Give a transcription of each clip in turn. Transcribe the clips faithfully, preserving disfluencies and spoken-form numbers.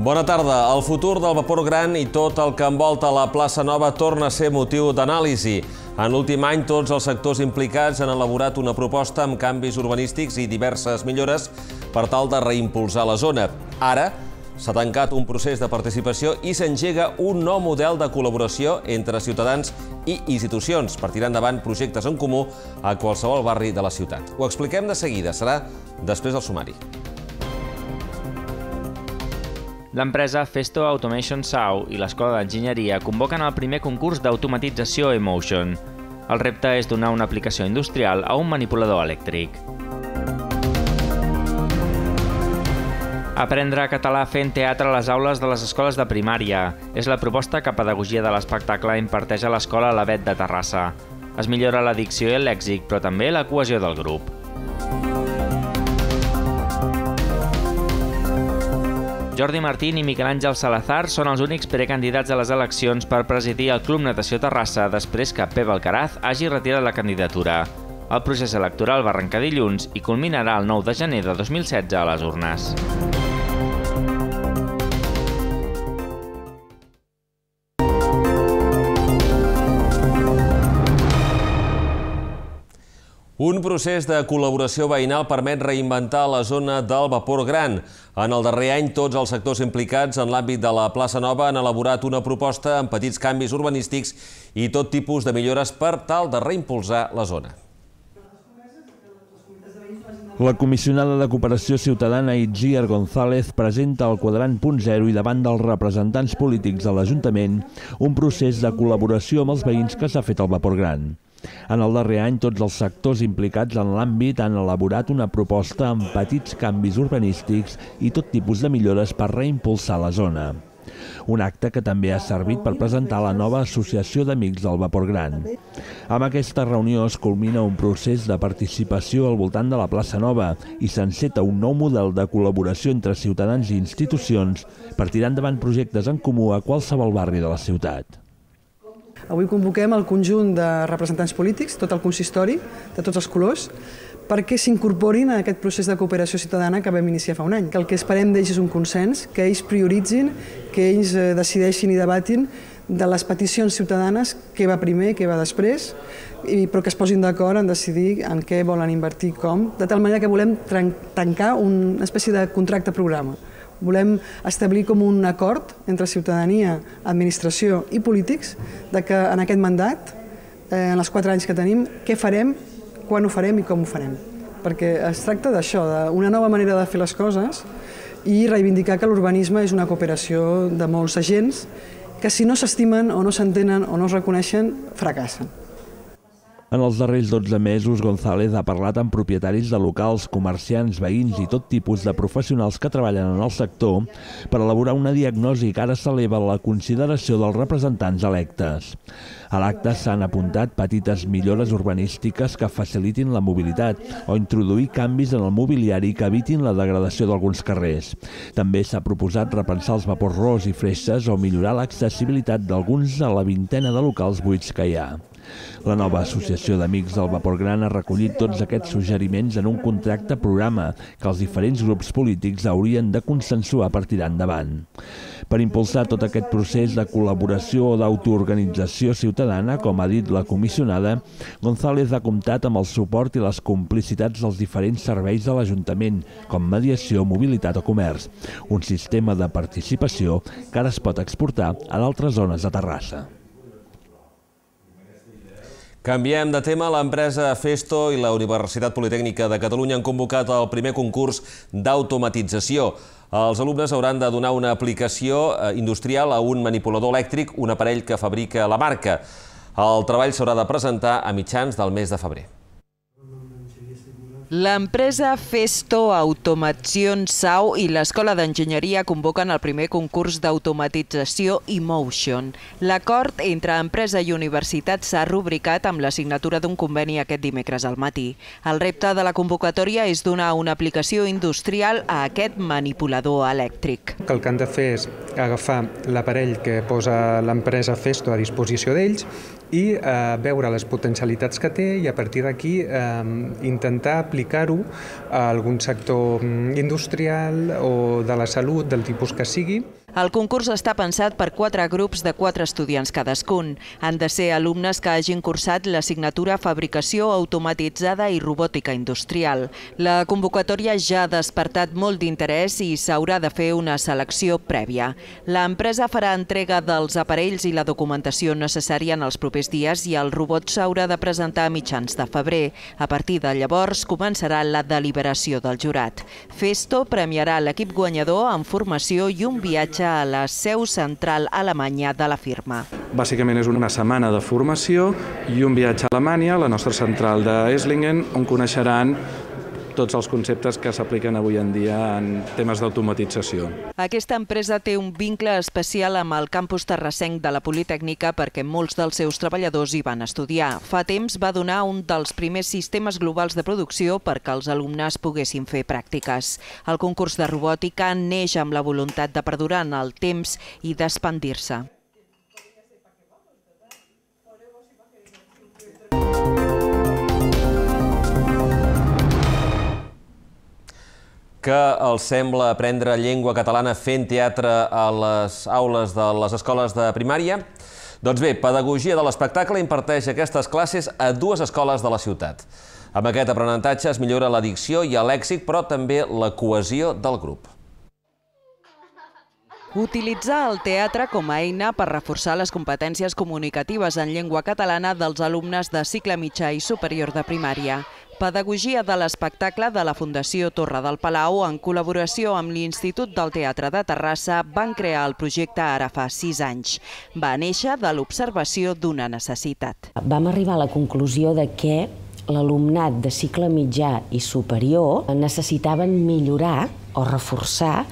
Bona tarda. El futur del vapor gran i tot el que envolta la plaça Nova torna a ser motiu d'anàlisi. En l'últim any, tots els sectors implicats han elaborat una proposta amb canvis urbanístics i diverses millores per tal de reimpulsar la zona. Ara s'ha tancat un procés de participació i s'engega un nou model de col·laboració entre ciutadans i institucions per tirar endavant projectes en comú a qualsevol barri de la ciutat. Ho expliquem de seguida, serà després del sumari. L'empresa Festo Automation Sau i l'Escola d'Enginyeria convoquen el primer concurs d'automatització eMotion. El repte és donar una aplicació industrial a un manipulador elèctric. Aprendre català fent teatre a les aules de les escoles de primària és la proposta que Pedagogia de l'Espectacle imparteix a l'Escola Alavet de Terrassa. Es millora la dicció i el lèxic, però també la cohesió del grup. Jordi Martín i Miquel Àngel Salazar són els únics precandidats a les eleccions per presidir el Club Natació Terrassa després que Pep Alcaraz hagi retirat la candidatura. El procés electoral va arrencar dilluns i culminarà el nou de gener de dos mil setze a les urnes. Un procés de col·laboració veïnal permet reinventar la zona del vapor gran. En el darrer any, tots els sectors implicats en l'àmbit de la plaça Nova han elaborat una proposta amb petits canvis urbanístics i tot tipus de millores per tal de reimpulsar la zona. La comissionada de Cooperació Ciutadana Itziar González presenta el quadrant punt zero i davant dels representants polítics de l'Ajuntament un procés de col·laboració amb els veïns que s'ha fet al vapor gran. En el darrer any, tots els sectors implicats en l'àmbit han elaborat una proposta amb petits canvis urbanístics i tot tipus de millores per reimpulsar la zona. Un acte que també ha servit per presentar la nova Associació d'Amics del Vapor Gran. Amb aquesta reunió es culmina un procés de participació al voltant de la plaça Nova i s'enceta un nou model de col·laboració entre ciutadans i institucions per tirar endavant projectes en comú a qualsevol barri de la ciutat. Avui convoquem el conjunt de representants polítics, tot el consistori, de tots els colors, perquè s'incorporin a aquest procés de cooperació ciutadana que vam iniciar fa un any. El que esperem d'ells és un consens, que ells prioritzin, que ells decideixin i debatin de les peticions ciutadanes, què va primer, què va després, però que es posin d'acord en decidir en què volen invertir, com, de tal manera que volem tancar una espècie de contracte programa. Volem establir com un acord entre ciutadania, administració i polítics de que en aquest mandat, en els quatre anys que tenim, què farem, quan ho farem i com ho farem. Perquè es tracta d'això, d'una nova manera de fer les coses i reivindicar que l'urbanisme és una cooperació de molts agents que si no s'estimen o no s'entenen o no es reconeixen, fracassen. En els darrers dotze mesos, González ha parlat amb propietaris de locals, comerciants, veïns i tot tipus de professionals que treballen en el sector per elaborar una diagnosi que ara s'eleva a la consideració dels representants electes. A l'acte s'han apuntat petites millores urbanístiques que facilitin la mobilitat o introduir canvis en el mobiliari que evitin la degradació d'alguns carrers. També s'ha proposat repensar els vapors ros i fresses o millorar l'accessibilitat d'alguns de la vintena de locals buits que hi ha. La nova Associació d'Amics del Vapor Gran ha recollit tots aquests suggeriments en un contracte programa que els diferents grups polítics haurien de consensuar per tirar endavant. Per impulsar tot aquest procés de col·laboració o d'autoorganització ciutadana, com ha dit la comissionada, González ha comptat amb el suport i les complicitats dels diferents serveis de l'Ajuntament, com mediació, mobilitat o comerç, un sistema de participació que ara es pot exportar a d'altres zones de Terrassa. Canviem de tema. L'empresa Festo i la Universitat Politècnica de Catalunya han convocat el primer concurs d'automatització. Els alumnes hauran de donar una aplicació industrial a un manipulador elèctric, un aparell que fabrica la marca. El treball s'haurà de presentar a mitjans del mes de febrer. L'empresa Festo Automation Sau i l'Escola d'Enginyeria convoquen el primer concurs d'automatització eMotion. L'acord entre empresa i universitat s'ha rubricat amb la signatura d'un conveni aquest dimecres al matí. El repte de la convocatòria és donar una aplicació industrial a aquest manipulador elèctric. El que han de fer és agafar l'aparell que posa l'empresa Festo a disposició d'ells i eh, veure les potencialitats que té i a partir d'aquí eh, intentar aplicar-ho a algun sector industrial o de la salut, del tipus que sigui. El concurs està pensat per quatre grups de quatre estudiants cadascun. Han de ser alumnes que hagin cursat l'assignatura Fabricació Automatitzada i Robòtica Industrial. La convocatòria ja ha despertat molt d'interès i s'haurà de fer una selecció prèvia. L'empresa farà entrega dels aparells i la documentació necessària en els propers dies i el robot s'haurà de presentar a mitjans de febrer. A partir de llavors començarà la deliberació del jurat. Festo premiarà l'equip guanyador amb formació i un viatge a la seu central alemanya de la firma. Bàsicament és una setmana de formació i un viatge a Alemanya, la nostra central d'Esslingen, on coneixeran tots els conceptes que s'apliquen avui en dia en temes d'automatització. Aquesta empresa té un vincle especial amb el campus terrassenc de la Politècnica perquè molts dels seus treballadors hi van estudiar. Fa temps va donar un dels primers sistemes globals de producció perquè els alumnes poguessin fer pràctiques. El concurs de robòtica neix amb la voluntat de perdurar en el temps i d'expandir-se. Que els sembla aprendre llengua catalana fent teatre a les aules de les escoles de primària? Doncs bé, Pedagogia de l'Espectacle imparteix aquestes classes a dues escoles de la ciutat. Amb aquest aprenentatge es millora la dicció i el lèxic, però també la cohesió del grup. Utilitzar el teatre com a eina per reforçar les competències comunicatives en llengua catalana dels alumnes de cicle mitjà i superior de primària. Pedagogia de l'Espectacle de la Fundació Torre del Palau, en col·laboració amb l'Institut del Teatre de Terrassa, van crear el projecte ara fa sis anys. Va néixer de l'observació d'una necessitat. Vam arribar a la conclusió de que l'alumnat de cicle mitjà i superior necessitaven millorar o reforçar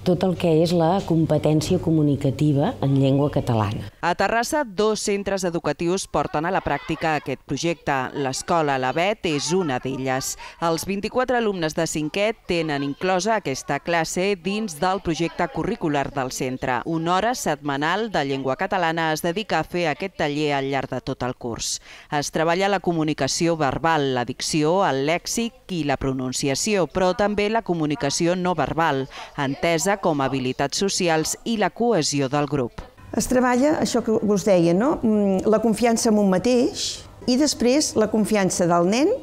tot el que és la competència comunicativa en llengua catalana. A Terrassa, dos centres educatius porten a la pràctica aquest projecte. L'escola L'Avet és una d'elles. Els vint-i-quatre alumnes de cinquè tenen inclosa aquesta classe dins del projecte curricular del centre. Una hora setmanal de llengua catalana es dedica a fer aquest taller al llarg de tot el curs. Es treballa la comunicació verbal, la dicció, el lèxic i la pronunciació, però també la comunicació no verbal, entesa com a habilitats socials i la cohesió del grup. Es treballa, això que us deia, no? La confiança en un mateix i després la confiança del nen,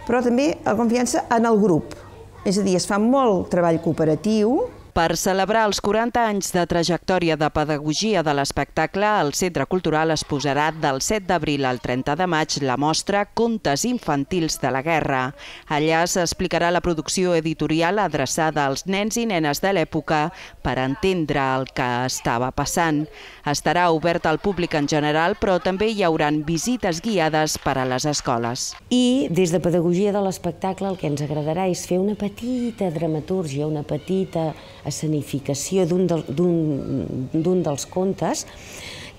però també la confiança en el grup. És a dir, es fa molt treball cooperatiu. Per celebrar els quaranta anys de trajectòria de Pedagogia de l'Espectacle, el Centre Cultural exposarà del set d'abril al trenta de maig la mostra Contes infantils de la guerra. Allà s'explicarà la producció editorial adreçada als nens i nenes de l'època per entendre el que estava passant. Estarà obert al públic en general, però també hi haurà visites guiades per a les escoles. I des de Pedagogia de l'Espectacle el que ens agradarà és fer una petita dramatúrgia, una petita escenificació d'un dels contes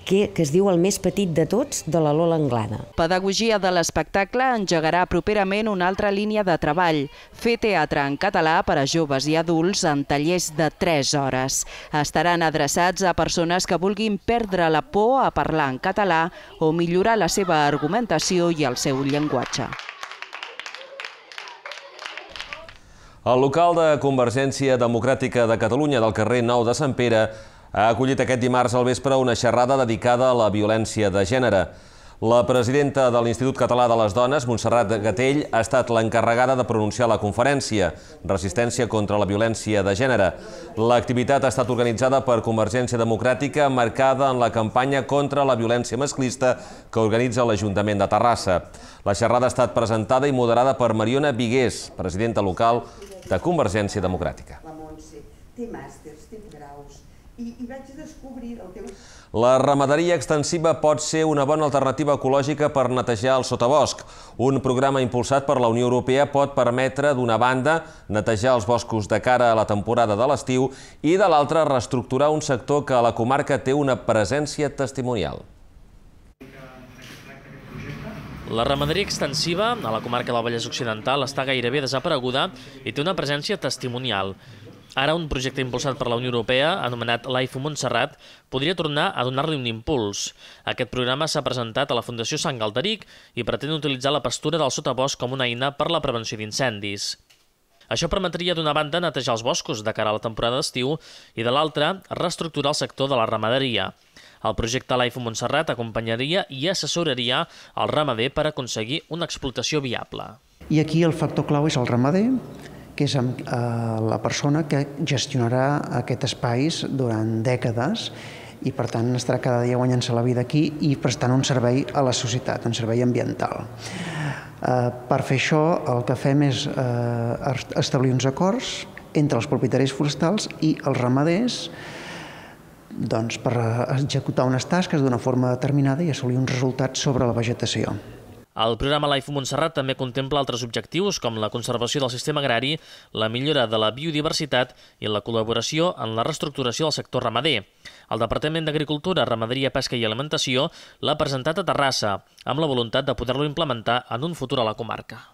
que es diu El més petit de tots, de la Lola Anglada. Pedagogia de l'Espectacle engegarà properament una altra línia de treball, fer teatre en català per a joves i adults en tallers de tres hores. Estaran adreçats a persones que vulguin perdre la por a parlar en català o millorar la seva argumentació i el seu llenguatge. El local de Convergència Democràtica de Catalunya del carrer Nou de Sant Pere ha acollit aquest dimarts al vespre una xerrada dedicada a la violència de gènere. La presidenta de l'Institut Català de les Dones, Montserrat Gatell, ha estat l'encarregada de pronunciar la conferència Resistència contra la violència de gènere. L'activitat ha estat organitzada per Convergència Democràtica, marcada en la campanya contra la violència masclista que organitza l'Ajuntament de Terrassa. La xerrada ha estat presentada i moderada per Mariona Vigués, presidenta local de Convergència Democràtica. La Montse té màsters, té graus, i vaig descobrir el teu... La ramaderia extensiva pot ser una bona alternativa ecològica per netejar el sotabosc. Un programa impulsat per la Unió Europea pot permetre, d'una banda, netejar els boscos de cara a la temporada de l'estiu i, de l'altra, reestructurar un sector que a la comarca té una presència testimonial. La ramaderia extensiva a la comarca del Vallès Occidental està gairebé desapareguda i té una presència testimonial. Ara, un projecte impulsat per la Unió Europea, anomenat Life Montserrat, podria tornar a donar-li un impuls. Aquest programa s'ha presentat a la Fundació Sant Galderic i pretén utilitzar la pastura del sotabosc com una eina per la prevenció d'incendis. Això permetria, d'una banda, netejar els boscos de cara a la temporada d'estiu i, de l'altra, reestructurar el sector de la ramaderia. El projecte Life Montserrat acompanyaria i assessoraria el ramader per aconseguir una explotació viable. I aquí el factor clau és el ramader, que és la persona que gestionarà aquests espais durant dècades i, per tant, estarà cada dia guanyant-se la vida aquí i prestant un servei a la societat, un servei ambiental. Per fer això, el que fem és establir uns acords entre els propietaris forestals i els ramaders per executar unes tasques d'una forma determinada i assolir uns resultats sobre la vegetació. El programa Life Montserrat també contempla altres objectius com la conservació del sistema agrari, la millora de la biodiversitat i la col·laboració en la reestructuració del sector ramader. El Departament d'Agricultura, Ramaderia, Pesca i Alimentació l'ha presentat a Terrassa, amb la voluntat de poder-lo implementar en un futur a la comarca.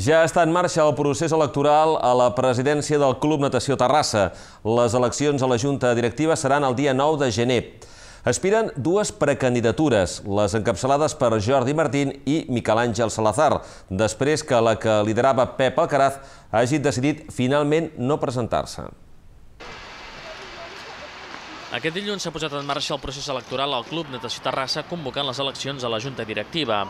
Ja està en marxa el procés electoral a la presidència del Club Natació Terrassa. Les eleccions a la Junta Directiva seran el dia nou de gener. Aspiren dues precandidatures, les encapçalades per Jordi Martín i Miquel Àngel Salazar, després que la que liderava Pep Alcaraz hagi decidit finalment no presentar-se. Aquest dilluns s'ha posat en marxa el procés electoral al Club Natació Terrassa convocant les eleccions a la Junta Directiva.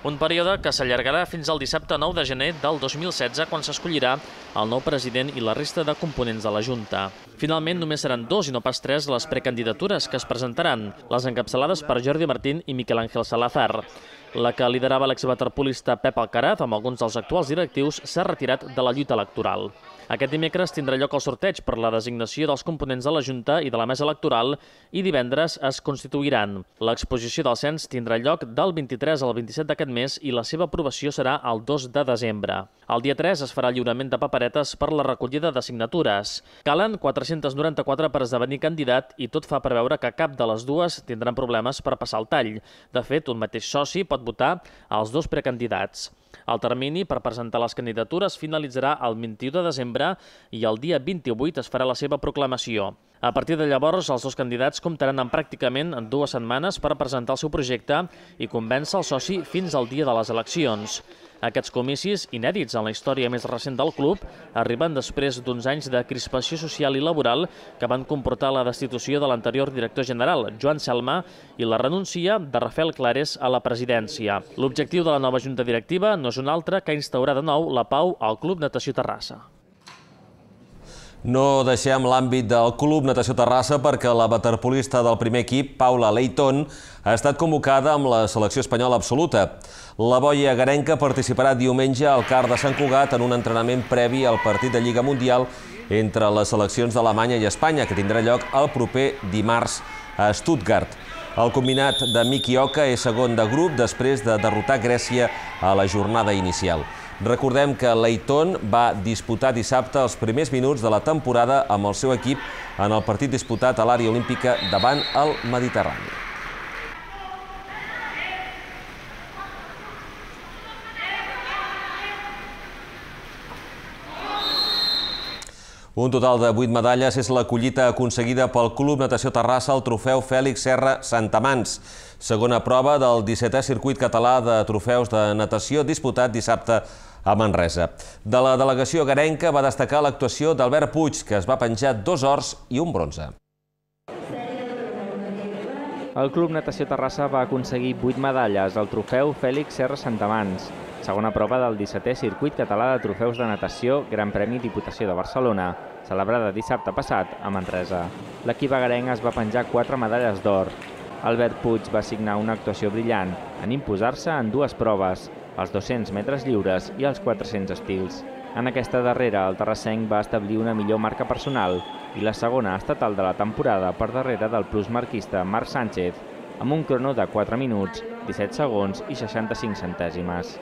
Un període que s'allargarà fins al dissabte nou de gener del dos mil setze, quan s'escollirà el nou president i la resta de components de la Junta. Finalment, només seran dos i no pas tres les precandidatures que es presentaran, les encapçalades per Jordi Martín i Miquel Àngel Salazar. La que liderava l'exwaterpolista Pep Alcaraz, amb alguns dels actuals directius, s'ha retirat de la lluita electoral. Aquest dimecres tindrà lloc el sorteig per la designació dels components de la Junta i de la mesa electoral i divendres es constituiran. L'exposició del cens tindrà lloc del vint-i-tres al vint-i-set d'aquest mes i la seva aprovació serà el dos de desembre. El dia tres es farà el lliurament de paperetes per la recollida de signatures. Calen quatre-cents noranta-quatre per esdevenir candidat i tot fa preveure que cap de les dues tindran problemes per passar el tall. De fet, un mateix soci pot votar als dos precandidats. El termini per presentar les candidatures finalitzarà el vint-i-u de desembre i el dia vint-i-vuit es farà la seva proclamació. A partir de llavors, els dos candidats comptaran amb pràcticament dues setmanes per presentar el seu projecte i convèncer el soci fins al dia de les eleccions. Aquests comicis, inèdits en la història més recent del club, arriben després d'uns anys de crispació social i laboral que van comportar la destitució de l'anterior director general, Joan Selma, i la renúncia de Rafael Clares a la presidència. L'objectiu de la nova Junta Directiva no és un altre que instaurar de nou la pau al Club Natació Terrassa. No deixem l'àmbit del Club Natació Terrassa perquè la waterpolista del primer equip, Paula Leighton, ha estat convocada amb la selecció espanyola absoluta. La boia garenca participarà diumenge al CAR de Sant Cugat en un entrenament previ al partit de Lliga Mundial entre les seleccions d'Alemanya i Espanya, que tindrà lloc el proper dimarts a Stuttgart. El combinat de Miki Oka és segon de grup després de derrotar Grècia a la jornada inicial. Recordem que Leighton va disputar dissabte els primers minuts de la temporada amb el seu equip en el partit disputat a l'àrea olímpica davant el Mediterrani. Un total de vuit medalles és la collita aconseguida pel Club Natació Terrassa al trofeu Fèlix Serra Santamans, segona prova del dissetè circuit català de trofeus de natació disputat dissabte a Manresa. De la delegació garenca va destacar l'actuació d'Albert Puig, que es va penjar dos ors i un bronze. El Club Natació Terrassa va aconseguir vuit medalles al trofeu Fèlix Serra Santamans, segona prova del dissetè circuit català de trofeus de natació Gran Premi Diputació de Barcelona, celebrada dissabte passat a Manresa. L'equip agarenc es va penjar quatre medalles d'or. Albert Puig va signar una actuació brillant en imposar-se en dues proves, els dos-cents metres lliures i els quatre-cents estils. En aquesta darrera, el terrassenc va establir una millor marca personal i la segona estatal de la temporada per darrere del plusmarquista Marc Sánchez, amb un crono de quatre minuts, disset segons i seixanta-cinc centèsimes.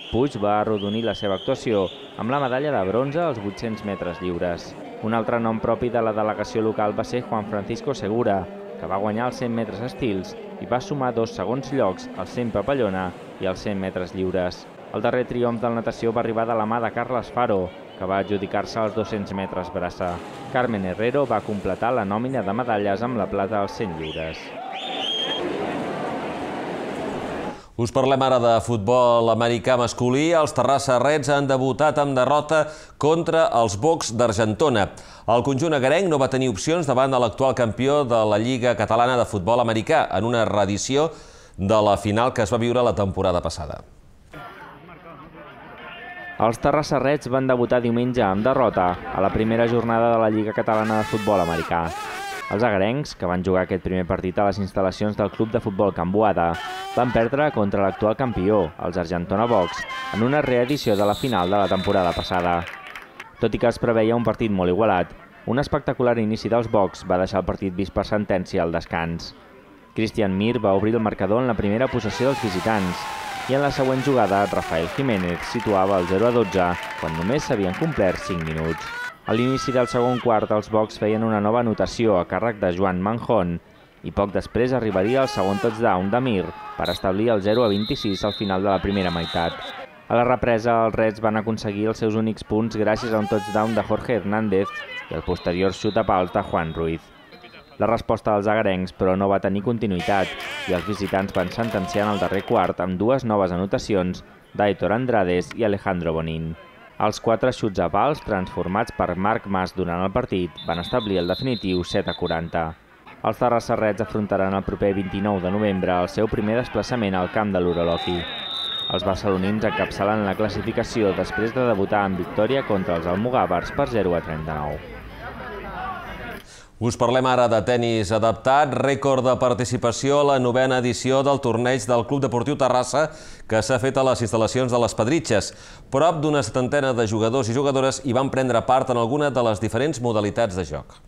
Puig va arrodonir la seva actuació amb la medalla de bronze als vuit-cents metres lliures. Un altre nom propi de la delegació local va ser Juan Francisco Segura, que va guanyar els cent metres estils i va sumar dos segons llocs als cent papallona i als cent metres lliures. El darrer triomf del natació va arribar de la mà de Carles Faro, que va adjudicar-se als dos-cents metres braça. Carmen Herrero va completar la nòmina de medalles amb la plata als cent lliures. Us parlem ara de futbol americà masculí. Els Terrassa Reds han debutat amb derrota contra els Bocs d'Argentona. El conjunt agarenc no va tenir opcions davant de l'actual campió de la Lliga Catalana de Futbol Americà en una reedició de la final que es va viure la temporada passada. Els Terrassa Reds van debutar diumenge amb derrota a la primera jornada de la Lliga Catalana de Futbol Americà. Els agarencs, que van jugar aquest primer partit a les instal·lacions del Club de Futbol Can Boada, van perdre contra l'actual campió, els Argentona Bocs, en una reedició de la final de la temporada passada. Tot i que es preveia un partit molt igualat, un espectacular inici dels Bocs va deixar el partit vist per sentència al descans. Cristian Mir va obrir el marcador en la primera possessió dels visitants i en la següent jugada Rafael Jiménez situava el zero a dotze quan només s'havien complert cinc minuts. A l'inici del segon quart, els Bocs feien una nova anotació a càrrec de Joan Manjón i poc després arribaria el segon touchdown de Mir per establir el zero a vint-i-sis al final de la primera meitat. A la represa, els Reds van aconseguir els seus únics punts gràcies a un touchdown de Jorge Hernández i el posterior xut a pals de Juan Ruiz. La resposta dels agarencs, però, no va tenir continuïtat i els visitants van sentenciar en el darrer quart amb dues noves anotacions d'Aitor Andrades i Alejandro Bonín. Els quatre xuts a pals, transformats per Marc Mas durant el partit, van establir el definitiu set a quaranta. Els Terrassa Reds afrontaran el proper vint-i-nou de novembre el seu primer desplaçament al camp de l'Uroloqui. Els barcelonins encapçalen la classificació després de debutar en victòria contra els almogàvers per zero a trenta-nou. Us parlem ara de tenis adaptat, rècord de participació a la novena edició del torneig del Club Deportiu Terrassa que s'ha fet a les instal·lacions de les Pedritxes. Prop d'una setantena de jugadors i jugadores hi van prendre part en alguna de les diferents modalitats de joc.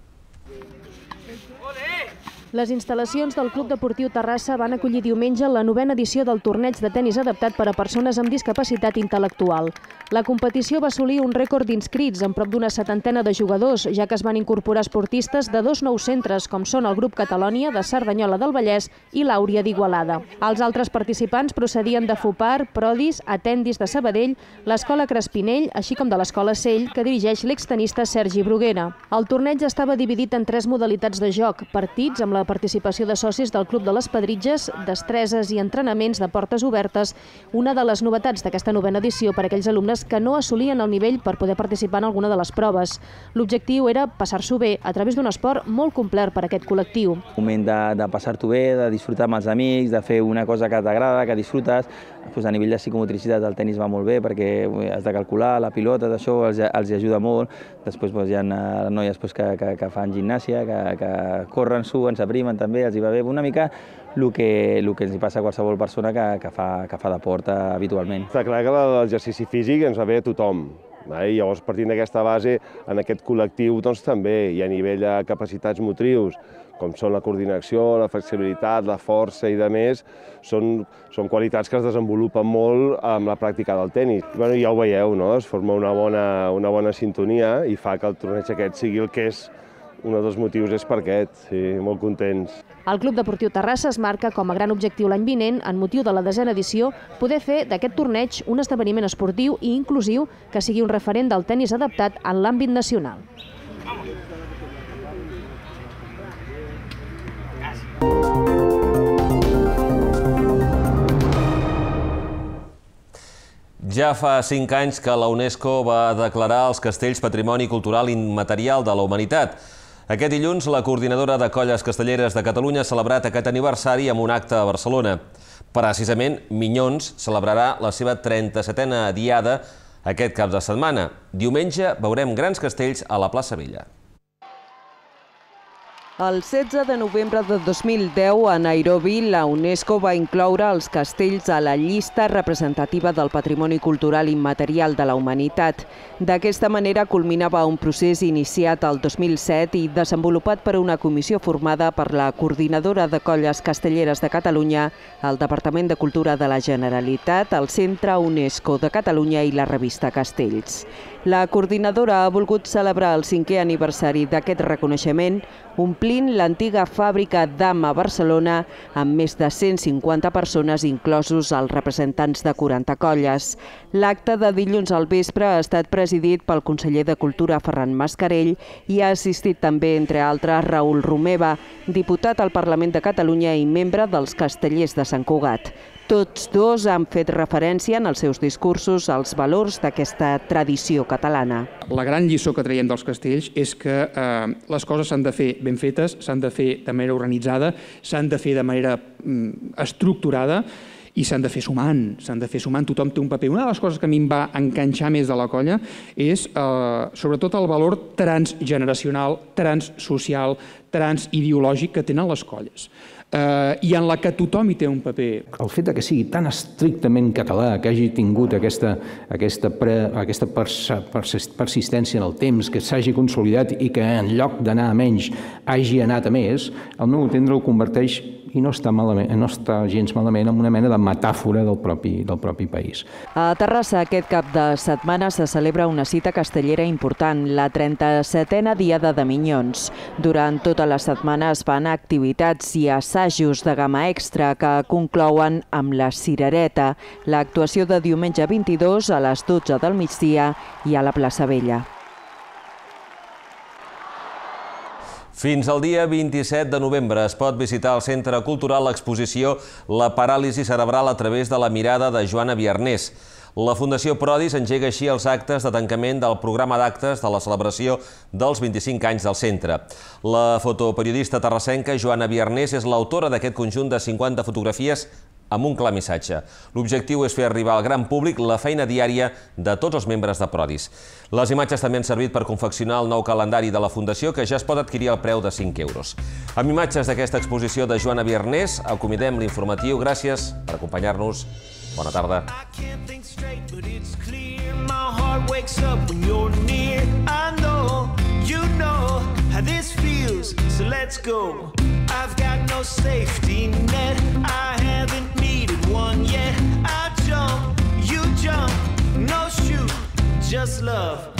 Les instal·lacions del Club Deportiu Terrassa van acollir diumenge la novena edició del torneig de tenis adaptat per a persones amb discapacitat intel·lectual. La competició va assolir un rècord d'inscrits amb prop d'una setantena de jugadors, ja que es van incorporar esportistes de dos nous centres, com són el grup Catalònia, de Cerdanyola del Vallès i l'Àuria d'Igualada. Els altres participants procedien de Fopar, Prodis, Atendis de Sabadell, l'Escola Crespinell, així com de l'Escola Sell, que dirigeix l'extenista Sergi Bruguera. El torneig estava dividit en tres modalitats de joc: partits amb la participació de socis del Club de les Pedritxes, destreses i entrenaments de portes obertes, una de les novetats d'aquesta novena edició per a aquells alumnes que no assolien el nivell per poder participar en alguna de les proves. L'objectiu era passar-s'ho bé a través d'un esport molt complet per a aquest col·lectiu. Un moment de, de passar-t'ho bé, de disfrutar amb els amics, de fer una cosa que t'agrada, que disfrutes. Pues a nivell de psicomotricitat el tenis va molt bé perquè has de calcular la pilota, això els, els ajuda molt. Després pues, hi ha noies pues, que, que, que fan gimnàsia, que, que corren, suen, s'aprimen també, els hi va bé una mica el que, el que ens hi passa a qualsevol persona que, que, fa, que fa d'esport habitualment. Està clar que l'exercici físic ens va bé a tothom. I llavors, partint d'aquesta base, en aquest col·lectiu doncs, també, i a nivell de capacitats motrius, com són la coordinació, la flexibilitat, la força i de més, són, són qualitats que es desenvolupen molt amb la pràctica del tenis. Bueno, ja ho veieu, no? Es forma una bona, una bona sintonia i fa que el torneig aquest sigui el que és. Un dels motius és per aquest, sí, molt contents. El Club Deportiu Terrassa es marca com a gran objectiu l'any vinent, en motiu de la desena edició, poder fer d'aquest torneig un esdeveniment esportiu i inclusiu que sigui un referent del tenis adaptat en l'àmbit nacional. Ja fa cinc anys que la UNESCO va declarar els castells Patrimoni Cultural Immaterial de la Humanitat. Aquest dilluns, la coordinadora de Colles Castelleres de Catalunya ha celebrat aquest aniversari amb un acte a Barcelona. Precisament, Minyons celebrarà la seva trenta-setena diada aquest cap de setmana. Diumenge veurem grans castells a la plaça Vella. El setze de novembre de dos mil deu, a Nairobi, la UNESCO va incloure els castells a la llista representativa del Patrimoni Cultural Immaterial de la Humanitat. D'aquesta manera culminava un procés iniciat el dos mil set i desenvolupat per una comissió formada per la coordinadora de Colles Castelleres de Catalunya, el Departament de Cultura de la Generalitat, el Centre UNESCO de Catalunya i la revista Castells. La coordinadora ha volgut celebrar el cinquè aniversari d'aquest reconeixement omplint l'antiga fàbrica d'Am a Barcelona amb més de cent cinquanta persones, inclosos els representants de quaranta colles. L'acte de dilluns al vespre ha estat presidit pel conseller de Cultura Ferran Mascarell i ha assistit també, entre altres, Raül Romeva, diputat al Parlament de Catalunya i membre dels Castellers de Sant Cugat. Tots dos han fet referència en els seus discursos als valors d'aquesta tradició catalana. La gran lliçó que traiem dels castells és que eh, les coses s'han de fer ben fetes, s'han de fer de manera organitzada, s'han de fer de manera mm, estructurada i s'han de fer sumant, s'han de fer sumant, tothom té un paper. Una de les coses que a mi em va enganxar més de la colla és eh, sobretot el valor transgeneracional, transsocial, transideològic que tenen les colles. Uh, i en la que tothom hi té un paper. El fet que sigui tan estrictament català, que hagi tingut aquesta, aquesta, pre, aquesta persistència en el temps, que s'hagi consolidat i que en lloc d'anar a menys hagi anat a més, al meu entendre ho converteix, i no està, malament, no està gens malament, en una mena de metàfora del propi, del propi país. A Terrassa aquest cap de setmana se celebra una cita castellera important, la trenta-setena Diada de Minyons. Durant tota la setmana es fan activitats i assajos de gamma extra que conclouen amb la cirereta, l'actuació de diumenge vint-i-dos a les dotze del migdia i a la plaça Vella. Fins al dia vint-i-set de novembre es pot visitar al Centre Cultural l'exposició La paràlisi cerebral a través de la mirada de Joana Biarnés. La Fundació Prodis engega així els actes de tancament del programa d'actes de la celebració dels vint-i-cinc anys del centre. La fotoperiodista terrassenca Joana Biarnés és l'autora d'aquest conjunt de cinquanta fotografies amb un clar missatge. L'objectiu és fer arribar al gran públic la feina diària de tots els membres de Prodis. Les imatges també han servit per confeccionar el nou calendari de la Fundació, que ja es pot adquirir al preu de cinc euros. Amb imatges d'aquesta exposició de Joana Biarnés, acomidem l'informatiu. Gràcies per acompanyar-nos. Bona tarda. I've got no safety net, I haven't needed one yet. I jump, you jump, no shoot, just love.